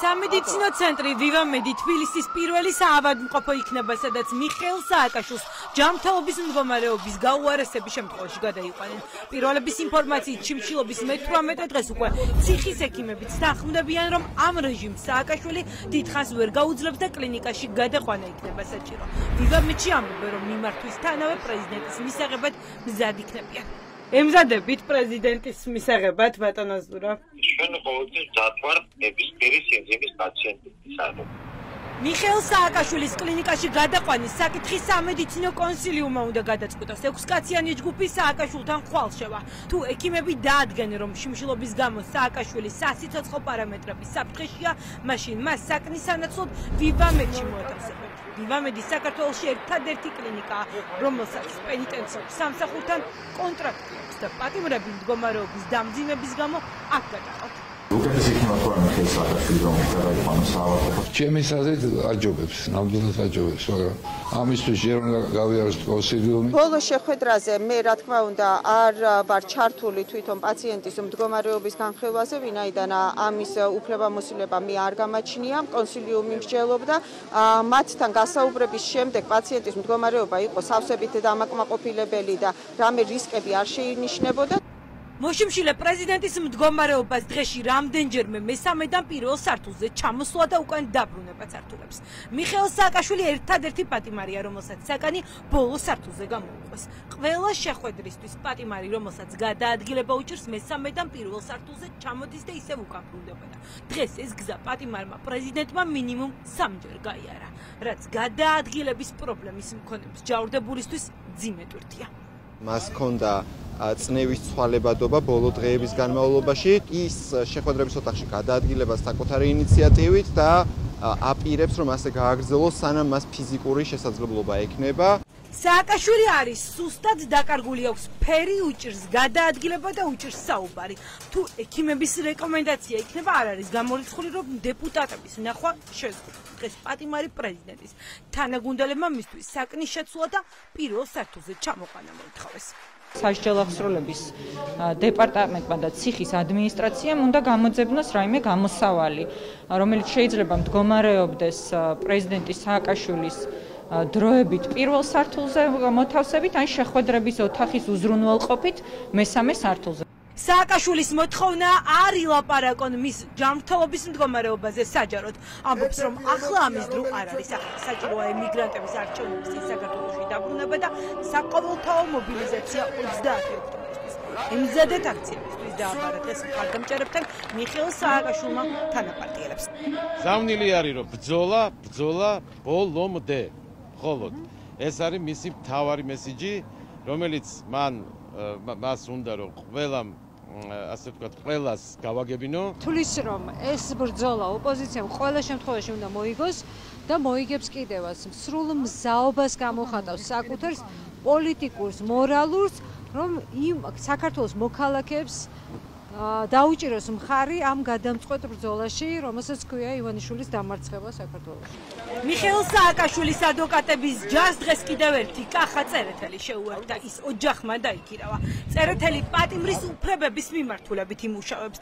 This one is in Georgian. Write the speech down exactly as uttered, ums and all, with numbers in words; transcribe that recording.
სამედიცინო ცენტრი ვივამედი თბილისის პირველი საავადმყოფო იქნება, სადაც მიხეილ სააკაშვილს ჯანმრთელობის მდგომარეობის გაუარესების შემთხვევაში გადაიყვანენ. პირველების ინფორმაციით შიმშილობის მეთვრამეტე დღეს უკვე ციხის ექიმებიც თანხმდებიან, რომ ამ რეჟიმს სააკაშვილი დიდხანს ვერ გაუძლებს და კლინიკაში გადაყვანა იქნება საჭირო. ვივამედში ამბობენ, რომ მიმართვის თანავე პრეზიდენტის მისაღებად მზად იქნებიან. ემზადებით პრეზიდენტის მისაღებად, ბატონო ზურა. ჩვენ ყოველთვის მზად ვარ ნებისმიერი სინძიმის პაციენტისადმი. მიხეილ სააკაშვილის კლინიკაში გადაყვანის საკითხი სამედიცინო კონსილიუმმა უნდა გადაწყვიტოს. ექვსკაციანი ჯგუფი სააკაშვილთან ხვალ-შევა. თუ ექიმები დაადგენენ, რომ შიმშილობის გამო სააკაშვილის სასიცოცხლო პარამეტრები საფრთხეშია, მაშინ მას საკნის სანაცვლოდ ვივამედში მოათავსებენ. ვივამედი საქართველოში ერთადერთი კლინიკაა, რომელსაც პენიტენციურ სამსახურთან კონტრაქტი აქვს და პატიმრები მდგომარეობის დამძიმების გამო აქ გადაყავთ. უკეთესი იქნება თუ არა მიხეილ სააკაშვილი რომ გადაიყვანოს საავადმყოფოში? ჩემი აზრით აჯობებს, ნამდვილად აჯობებს, მაგრამ ამისთვის ჯერ უნდა გავიაროს კონსილიუმი. ბოლო შეხვედრაზე მე რა თქმა უნდა არ ვარ ჩართული თვითონ პაციენტის მდგომარეობის განხილვაზე, ვინაიდან ამის უფლებამოსილება მე არ გამაჩნია. კონსილიუმი მსჯელობდა მათთან გასაუბრების შემდეგ პაციენტის მდგომარეობა იყო სავსებით დამაკმაყოფილებელი და რამე რისკები არ შეინიშნებოდა. მოშიმშილე პრეზიდენტის მდგომარეობას დღეში რამდენჯერმე მესამედან პირველ სართულზე ჩამოსვლა და უკან დაბრუნებაც ართულებს. მიხეილ სააკაშვილი ერთადერთი პატიმარია, რომელსაც საკანი ბოლო სართულზე გამოუყვეს. ყველა შეხვედრისთვის პატიმარი, რომელსაც გადაადგილება უჭირს, მესამედან პირველ სართულზე ჩამოდის და ისევ უკან ბრუნდებოდა. დღეს ეს გზა პატიმარმა პრეზიდენტმა მინიმუმ სამჯერ გაიარა, რაც გადაადგილების პრობლემის მქონე მსჯავრდებულისთვის ძიმე ტვირთია. მას ჰქონდა წნევის ცვალებადობა ბოლო დღეების განმავლობაში. ის შეხვედრების ოთახში გადაადგილებას საკუთარი ინიციატივით და აპირებს, რომ ასე გააგრძელოს, სანამ მას ფიზიკური შესაძლებლობა ექნება. სააკაშვილი არის სუსტად დაკარგული, აქვს ფერი, უჭირს გადაადგილება და უჭირს საუბარი. თუ ექიმების რეკომენდაცია იქნება, არ არის გამორიცხული, რომ დეპუტატების ნახვა შეზღუდვა. დღეს პატიმარი პრეზიდენტის თანაგუნდელებმა მისთვის საკნის შეცვლა და პირველ სართულზე ჩამოყვანა მოითხოვეს. სასჯელ აღსრულების დეპარტამენტმა და ციხის ადმინისტრაციამ უნდა გამოძებნოს რაიმე გამოსავალი, რომელიც შეიძლება მდგომარეობდეს პრეზიდენტის სააკაშვილის დროებით პირველ სართულზე მოთავსებით, ან შეხვედრების ოთახის უზრუნველყოფით მესამე სართულზე. სააკაშვილის მოთხოვნა არ ილაპარაკონ მის ჯანმრთელობის მდგომარეობაზე საჯაროდ. ამბობს, რომ ახლა ამის დრო არ არის. ახლა საჭიროა ემიგრანტების არჩევნების საქართველოში დაბრუნება და საყოველთაო მობილიზაცია ოცდაათი ოქტომბრისთვის. ემზადეთ აქციებისთვის დააბარა დღეს მხარდამჭერებთან მიხეილ სააკაშვილმა თანაპარტიელებს. ზავნილი არის, რომ ბრძოლა, ბრძოლა ბოლომდე. მხოლოდ ეს არის მისი მთავარი მესიჯი, რომელიც მან მას უნდა რომ ყველამ ასე ვთქვათ, ყველას გავაგებინო. თulis რომ ეს ბრძოლა ოპოზიციამ ყველა შემთხვევაში უნდა მოიგოს და მოიგებს კიდევაც. სრულ მზაობას გამოხატავს საკუთარ პოლიტიკურს, მორალურს, რომ იმ საქართველოს მოქალაქეებს დაუჭიროს მხარი ამ გადამწყვეტ ბრძოლაში, რომელსაც ქვია ივანიშვილის დამარცხება საქართველოში. მიხეილ სააკაშვილის ადვოკატების ჯარს დღეს კიდევ ერთი კახა წერეთელი შეუერთდა, ის ოჯახმა დაიქირავა. წერეთელი პატიმრის უფლებების მიმართულებით იმუშავებს.